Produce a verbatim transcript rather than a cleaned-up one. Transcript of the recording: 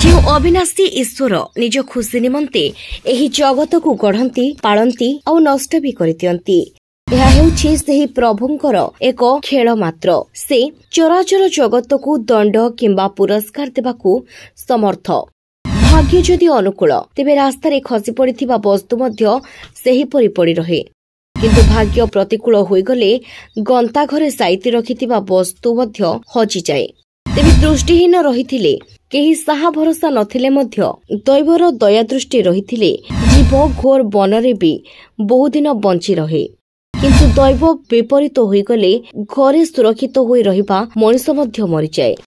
ଯେଉଁ ଅବିନାଶୀ ଈଶ୍ୱର ନିଜ ଖୁସି ନିମନ୍ତେ ଏହି ଜଗତକୁ ଗଢ଼ନ୍ତି, ପାଳନ୍ତି ଆଉ ନଷ୍ଟ ବି କରିଦିଅନ୍ତି, ଏହା ହେଉଛି ସେହି ପ୍ରଭୁଙ୍କର ଏକ ଖେଳ ମାତ୍ର। ସେ ଚରାଚର ଜଗତକୁ ଦଣ୍ଡ କିମ୍ବା ପୁରସ୍କାର ଦେବାକୁ ସମର୍ଥ। ଭାଗ୍ୟ ଯଦି ଅନୁକୂଳ, ତେବେ ରାସ୍ତାରେ ଖସି ପଡ଼ିଥିବା ବସ୍ତୁ ମଧ୍ୟ ସେହିପରି ପଡ଼ି ରହେ। କିନ୍ତୁ ଭାଗ୍ୟ ପ୍ରତିକୂଳ ହୋଇଗଲେ ଗନ୍ତାଘରେ ସାଇତି ରଖିଥିବା ବସ୍ତୁ ମଧ୍ୟ ହଜିଯାଏ। ତେବେ ଦୃଷ୍ଟିହୀନ ରହିଥିଲେ, କେହି ସାହା ଭରସା ନଥିଲେ ମଧ୍ୟ ଦୈବର ଦୟା ଦୃଷ୍ଟି ରହିଥିଲେ ଜୀବ ଘୋର ବନରେ ବି ବହୁଦିନ ବଞ୍ଚି ରହେ। କିନ୍ତୁ ଦୈବ ବିପରୀତ ହୋଇଗଲେ ଘରେ ସୁରକ୍ଷିତ ହୋଇ ରହିବା ମଣିଷ ମଧ୍ୟ ମରିଯାଏ।